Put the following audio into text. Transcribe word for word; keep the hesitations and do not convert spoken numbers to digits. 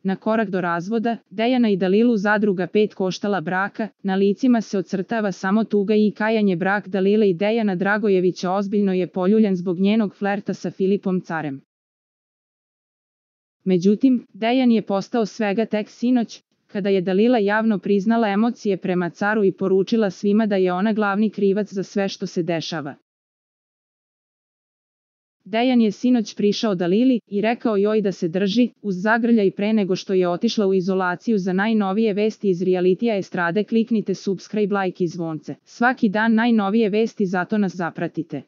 Na korak do razvoda, Dejana i Dalilu zadruga pet koštala braka, na licima se ocrtava samo tuga i kajanje. Brak Dalile i Dejana Dragojevića ozbiljno je poljuljan zbog njenog flerta sa Filipom Carem. Međutim, Dejan je postao svega tek sinoć, kada je Dalila javno priznala emocije prema Caru i poručila svima da je ona glavni krivac za sve što se dešava. Dejan je sinoć prišao Dalili i rekao joj da se drži, uz zagrljaj pre nego što je otišla u izolaciju. Za najnovije vesti iz realitija estrade kliknite subscribe, like i zvonce. Svaki dan najnovije vesti, zato nas zapratite.